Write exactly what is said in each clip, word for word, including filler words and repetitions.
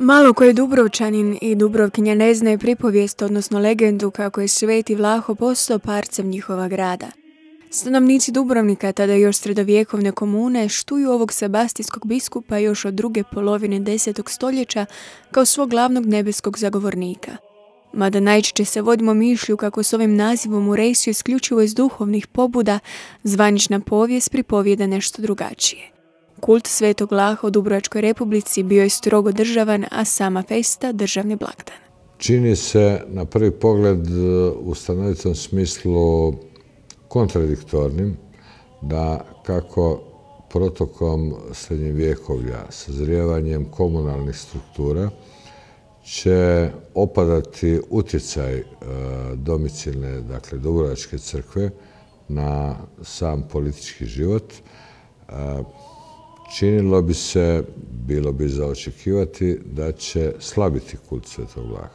Malo koji Dubrovčanin i Dubrovkinja ne znaju pripovijest, odnosno legendu kako je Sveti Vlaho postao parcem njihova grada. Stanovnici Dubrovnika, tada još sredovjekovne komune, štuju ovog sebastijskog biskupa još od druge polovine desetog stoljeća kao svog glavnog nebeskog zagovornika. Mada najčešće se vodimo mišlju kako s ovim nazivom uresu isključivo iz duhovnih pobuda, zvanična povijest pripovijeda nešto drugačije. Kult Svetog Vlaha u Dubrovačkoj Republici bio je strogo državan, a sama festa državni blagdan. Čini se na prvi pogled u stanovitom smislu kontradiktornim da kako protokom srednjevjekovlja, sazrijevanjem komunalnih struktura, će opadati utjecaj domicilne, dakle Dubrovačke crkve na sam politički život. Činilo bi se, bilo bi za očekivati da će slabiti kult Svetog Vlaha.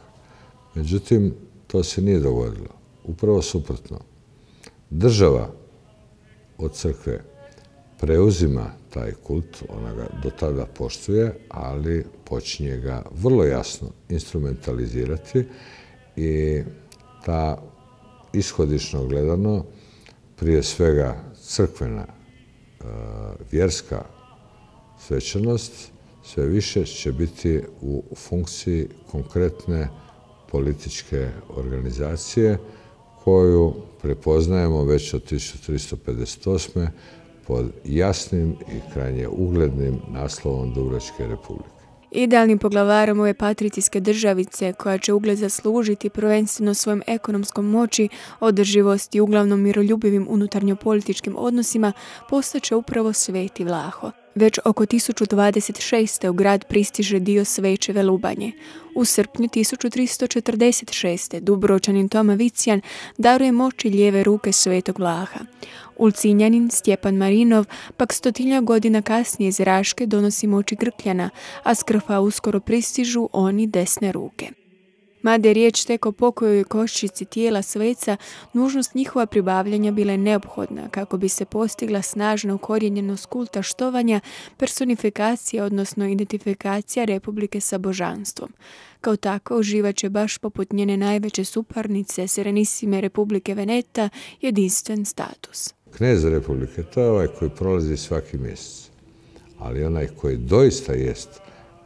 Međutim, to se nije dogodilo. Upravo suprotno. Država od crkve preuzima taj kult, ona ga do tada poštuje, ali počinje ga vrlo jasno instrumentalizirati i ta ishodično gledano, prije svega crkvena, vjerska svečanost, sve više će biti u funkciji konkretne političke organizacije koju prepoznajemo već od tisuću tristo pedeset osme pod jasnim i krajnje uglednim naslovom Dubrovačke Republike. Idealnim poglavarom ove patricijske državice, koja će ugled zaslužiti prvenstveno svojom ekonomskom moći, održivosti i uglavnom miroljubivim unutarnjopolitičkim odnosima, postaće upravo Sveti Vlaho. Već oko tisuću dvadeset šeste. u grad pristiže dio Svečeve Lubanje. U srpnju tisuću tristo četrdeset šeste. Dubrovčanin Toma Vicijan daruje moći lijeve ruke Svetog Vlaha. Ulcinjanin Stjepan Marinov pak stotinja godina kasnije iz Raške donosi moći Grkljana, a s Krfa uskoro pristižu oni desne ruke. Mada je riječ tek o pokojoj koščici tijela sveca, nužnost njihova pribavljanja bila je neophodna kako bi se postigla snažna ukorijenjenost kulta štovanja, personifikacija, odnosno identifikacija Republike sa božanstvom. Kao tako uživat će baš poput njene najveće suparnice, Serenissime Republike Veneta, jedinstven status. Knez Republike, to je ovaj koji prolazi svaki mjesec, ali onaj koji doista jest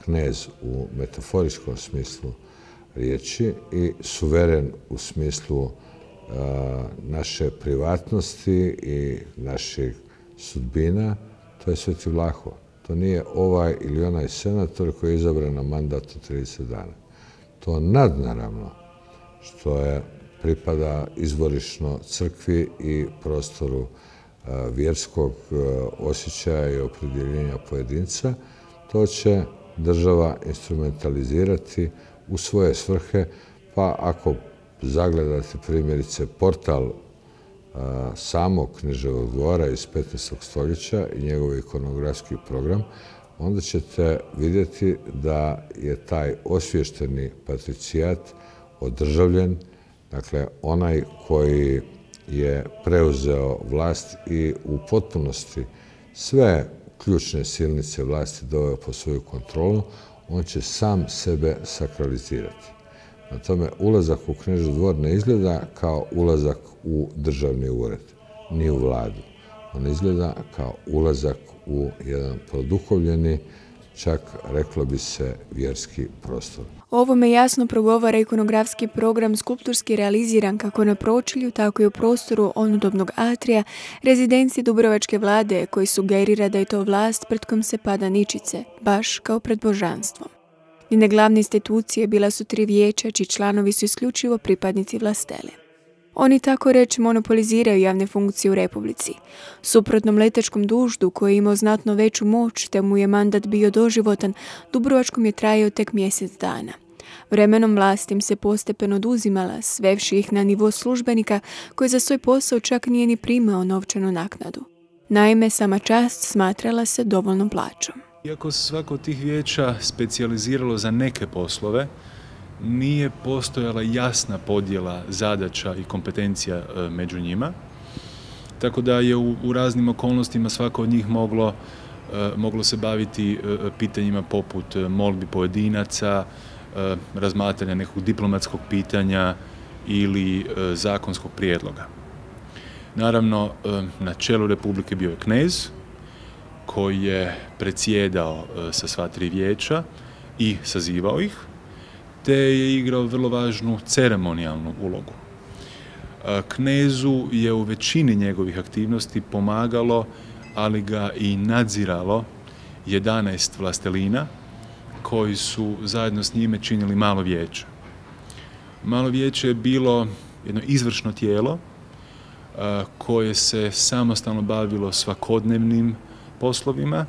knez u metaforičkom smislu riječi i suveren u smislu uh, naše privatnosti i naših sudbina, to je Sveti Vlaho. To nije ovaj ili onaj senator koji je izabran na mandat od trideset dana. To nadnaravno što je pripada izvorišno crkvi i prostoru uh, vjerskog uh, osjećaja i opredjeljenja pojedinca, to će država instrumentalizirati u svoje svrhe, pa ako zagledate primjerice portal a, samog Kneževog dvora iz petnaestog stoljeća i njegov ikonografski program, onda ćete vidjeti da je taj osvješteni patricijat održavljen, dakle onaj koji je preuzeo vlast i u potpunosti sve ključne silnice vlasti doveo pod svoju kontrolu, on će sam sebe sakralizirati. Na tome ulazak u Knežev dvor ne izgleda kao ulazak u državni ured, ni u vladu. On izgleda kao ulazak u jedan produhovljeni, čak reklo bi se vjerski prostor. Ovome jasno progovara ikonografski program skulpturski realiziran kako na pročelju, tako i u prostoru onudobnog atrija, rezidencije Dubrovačke vlade, koji sugerira da je to vlast pred kojom se pada ničice, baš kao pred božanstvom. Njene glavne institucije bila su tri vijeća, čiji članovi su isključivo pripadnici vlastele. Oni tako reći monopoliziraju javne funkcije u Republici. Suprotnom letačkom duždu, koji je imao znatno veću moć, te mu je mandat bio doživotan, Dubrovačkom je trajao tek mjesec dana. Vremenom vlast im se postepeno oduzimala, svevši ih na nivo službenika koji za svoj posao čak nije ni primao novčanu naknadu. Naime, sama čast smatrala se dovoljnom plaćom. Iako se svako od tih vijeća specijaliziralo za neke poslove, nije postojala jasna podjela zadaća i kompetencija među njima, tako da je u, u raznim okolnostima svako od njih moglo moglo se baviti pitanjima poput molbi pojedinaca, razmatranja nekog diplomatskog pitanja ili zakonskog prijedloga. Naravno, na čelu Republike bio je knez koji je predsjedao sa sva tri vijeća i sazivao ih, te je igrao vrlo važnu ceremonijalnu ulogu. Knezu je u većini njegovih aktivnosti pomagalo, ali ga i nadziralo jedanaest vlastelina koji su zajedno s njime činili malo vijeće. Malo vijeće je bilo jedno izvršno tijelo koje se samostalno bavilo svakodnevnim poslovima,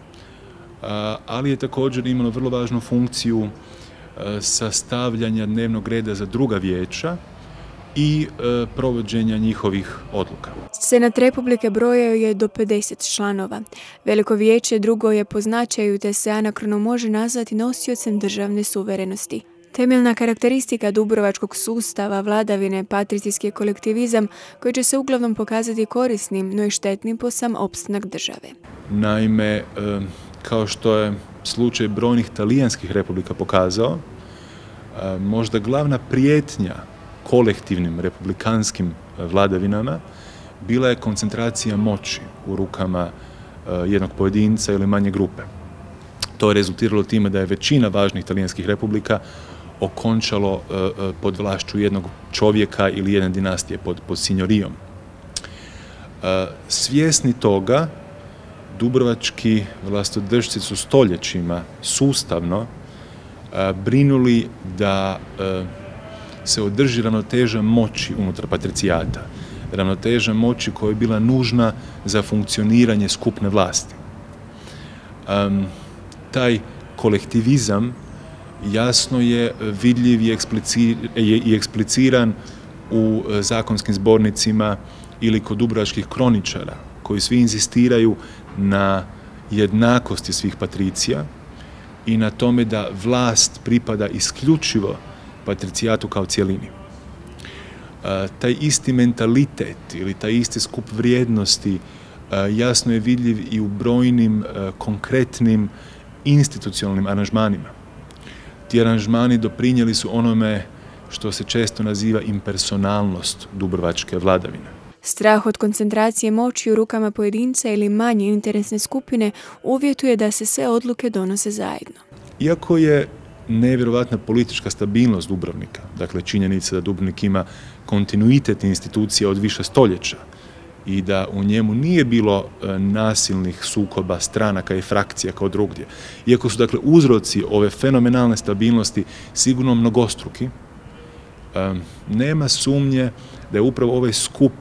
ali je također imalo vrlo važnu funkciju sastavljanja dnevnog reda za druga vijeća i e, provođenja njihovih odluka. Senat Republike brojao je do pedeset članova. Veliko vijeće drugo je po značaju te se anakronom može nazvati nosiocem državne suverenosti. Temeljna karakteristika dubrovačkog sustava vladavine patrijski kolektivizam koji će se uglavnom pokazati korisnim, no i štetnim po sam opstanak države. Naime, e, kao što je slučaj brojnih talijanskih republika pokazao, e, možda glavna prijetnja kolektivnim republikanskim vladavinama bila je koncentracija moći u rukama jednog pojedinca ili manje grupe. To je rezultiralo time da je većina važnih talijanskih republika okončalo pod vlašću jednog čovjeka ili jedne dinastije pod, pod signorijom. Svjesni toga, dubrovački vlastodržci su stoljećima sustavno brinuli da se održi ravnoteža moći unutar patricijata, ravnoteža moći koja je bila nužna za funkcioniranje skupne vlasti. Um, taj kolektivizam jasno je vidljiv i, eksplicir, i ekspliciran u zakonskim zbornicima ili kod dubrovačkih kroničara, koji svi inzistiraju na jednakosti svih patricija i na tome da vlast pripada isključivo patricijatu kao cjelini. E, taj isti mentalitet ili taj isti skup vrijednosti e, jasno je vidljiv i u brojnim e, konkretnim institucionalnim aranžmanima. Ti aranžmani doprinijeli su onome što se često naziva impersonalnost dubrovačke vladavine. Strah od koncentracije moći u rukama pojedinca ili manje interesne skupine uvjetuje da se sve odluke donose zajedno. Iako je nevjerovatna politička stabilnost Dubrovnika, dakle činjenica da Dubrovnik ima kontinuitet institucija od više stoljeća i da u njemu nije bilo nasilnih sukoba stranaka i frakcija kao drugdje. Iako su dakle uzroci ove fenomenalne stabilnosti sigurno mnogostruki, nema sumnje da je upravo ovaj skup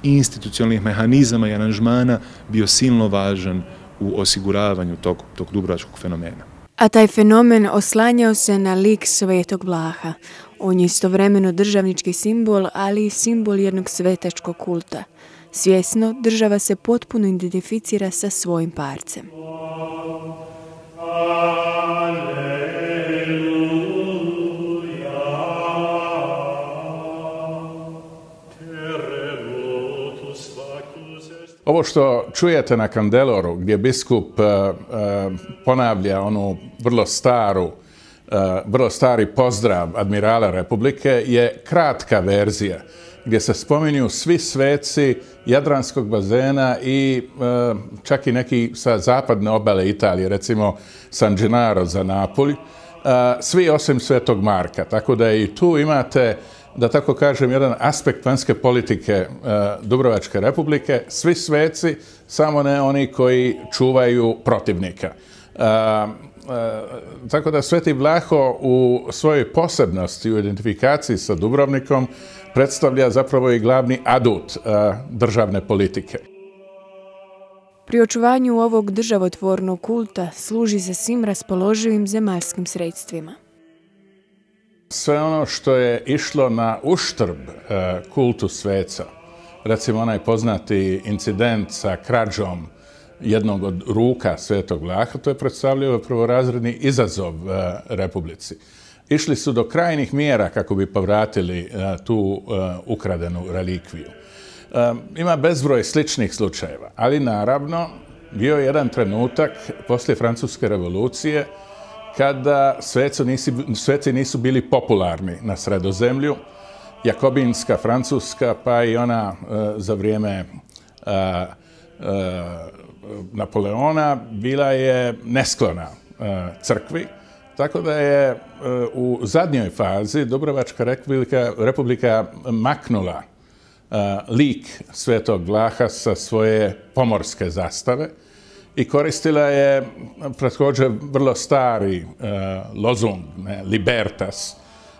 institucionalnih mehanizama i aranžmana bio silno važan u osiguravanju tog, tog dubrovačkog fenomena. A taj fenomen oslanjao se na lik Svetog Vlaha. On je istovremeno državnički simbol, ali i simbol jednog svetačkog kulta. Svjesno, država se potpuno identificira sa svojim parcem. Ovo što čujete na Kandeloru, gdje biskup uh, uh, ponavlja onu vrlo staru, uh, vrlo stari pozdrav admirala Republike, je kratka verzija, gdje se spominju svi sveci Jadranskog bazena i uh, čak i neki sa zapadne obale Italije, recimo San Gennaro za Napulj, uh, svi osim Svetog Marka. Tako da i tu imate, da tako kažem, jedan aspekt vanjske politike uh, Dubrovačke Republike, svi sveci, samo ne oni koji čuvaju protivnika. Uh, uh, tako da Sveti Vlaho u svojoj posebnosti, u identifikaciji sa Dubrovnikom, predstavlja zapravo i glavni adut uh, državne politike. Pri očuvanju ovog državotvornog kulta služi se svim raspoloživim zemaljskim sredstvima. Sve ono što je išlo na uštrb uh, kultu sveca, recimo onaj poznati incident sa krađom jednog od ruka Svetog Vlaha, to je predstavljao prvorazredni izazov uh, Republici. Išli su do krajnjih mjera kako bi povratili uh, tu uh, ukradenu relikviju. Uh, ima bezbroj sličnih slučajeva, ali naravno bio je jedan trenutak poslije Francuske revolucije kada sveci nisu, sveci nisu bili popularni na Sredozemlju. Jakobinska Francuska, pa i ona uh, za vrijeme uh, uh, Napoleona bila je nesklona uh, crkvi, tako da je uh, u zadnjoj fazi Dubrovačka republika, republika maknula uh, lik Svetog Vlaha sa svoje pomorske zastave i koristila je također vrlo stari uh, lozung, ne, libertas,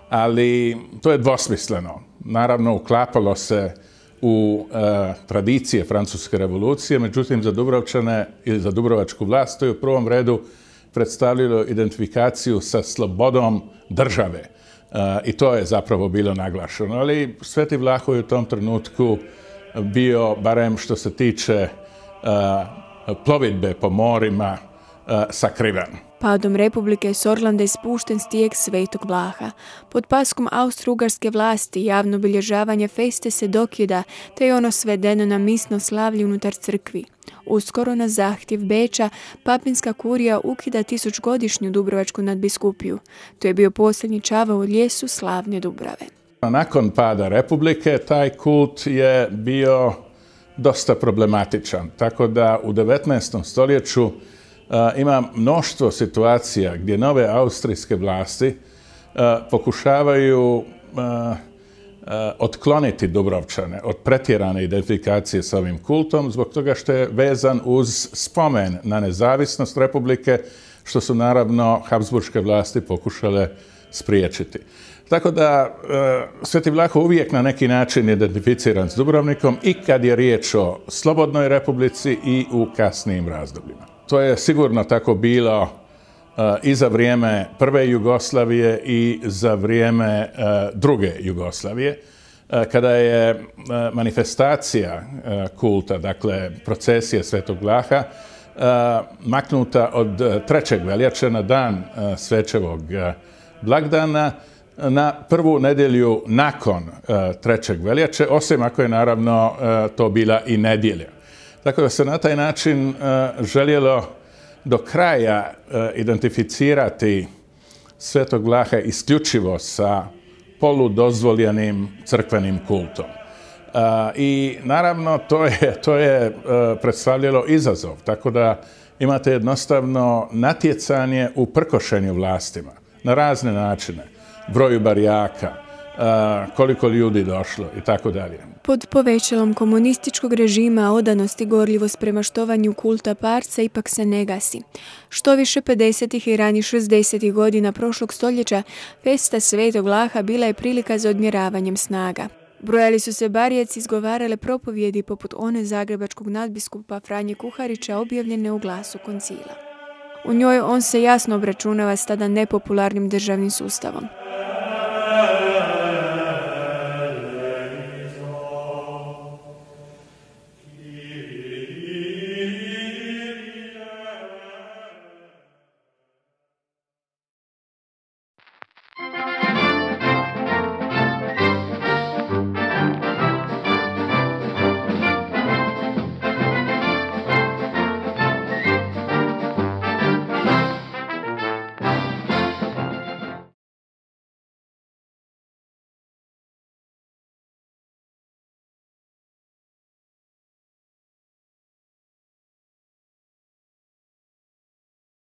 ali to je dvosmisleno. Naravno, uklapalo se u uh, tradicije Francuske revolucije, međutim za Dubrovčane ili za dubrovačku vlast to je u prvom redu predstavljalo identifikaciju sa slobodom države. Uh, I to je zapravo bilo naglašeno. Ali Sveti Vlaho je u tom trenutku bio, barem što se tiče uh, plovidbe po morima, uh, sakriven. Padom Republike s Orlanda je spušten stijeg Svetog Vlaha. Pod paskom austro-ugarske vlasti javno obilježavanje feste se dokida, te je ono svedeno na misno slavlje unutar crkvi. Uskoro na zahtjev Beča, papinska kurija ukida tisućgodišnju Dubrovačku nadbiskupiju. To je bio posljednji čavao u lijesu slavne Dubrave. Nakon pada Republike, taj kult je bio dosta problematičan, tako da u devetnaestom stoljeću uh, ima mnoštvo situacija gdje nove austrijske vlasti uh, pokušavaju uh, uh, otkloniti Dubrovčane od pretjerane identifikacije s ovim kultom, zbog toga što je vezan uz spomen na nezavisnost Republike, što su naravno Habsburške vlasti pokušale spriječiti. Tako da Sveti Vlaho uvijek na neki način identificiran s Dubrovnikom i kad je riječ o slobodnoj republici i u kasnijim razdobljima. To je sigurno tako bilo uh, i za vrijeme prve Jugoslavije i za vrijeme uh, druge Jugoslavije, uh, kada je uh, manifestacija uh, kulta, dakle procesija Svetog Vlaha, uh, maknuta od uh, trećeg veljače na dan uh, Svečevog uh, blagdana, na prvu nedjelju nakon uh, trećeg veljače, osim ako je naravno uh, to bila i nedjelja. Tako da se na taj način uh, željelo do kraja uh, identificirati Svetog Vlaha isključivo sa poludozvoljenim crkvenim kultom. Uh, I naravno to je, to je uh, predstavljalo izazov, tako da imate jednostavno natjecanje u prkošenju vlastima na razne načine. Broju barijaka, koliko ljudi došlo i tako dalje. Pod povećalom komunističkog režima odanost i gorljivost prema štovanju kulta parca ipak se ne gasi. Što više pedesetih i ranih šezdesetih godina prošlog stoljeća, festa Svetog Vlaha bila je prilika za odmjeravanjem snaga. Brojali su se barijeci, izgovarale propovjedi poput one zagrebačkog nadbiskupa Franje Kuharića objavljene u Glasu koncila. U njoj on se jasno obračunava s tada nepopularnim državnim sustavom.